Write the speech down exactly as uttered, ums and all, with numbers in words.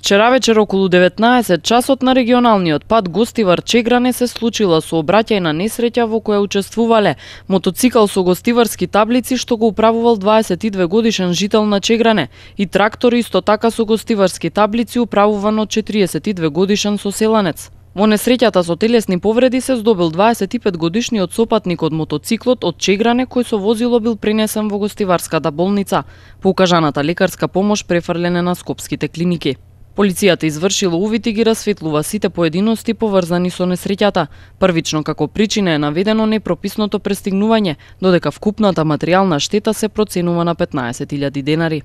Вчера вечер околу деветнаесет часот на регионалниот пат Гостивар-Чегране се случила сообраќајна несреќа во која учествувале мотоцикл со гостиварски таблици што го управувал дваесет и две годишен жител на Чегране и трактор исто така со гостиварски таблици управуван од четириесет и две годишен соселанец. Во несреќата со телесни повреди се здобил дваесет и пет годишниот сопатник од мотоциклот од Чегране кој со возило бил пренесен во гостиварската болница. По укажаната лекарска помош префрлене на скопските клиники. Полицијата извршила увид и ги расветлува сите поединости поврзани со несреќата. Првично како причина е наведено непрописното пристигнување, додека вкупната материјална штета се проценува на петнаесет илјади денари.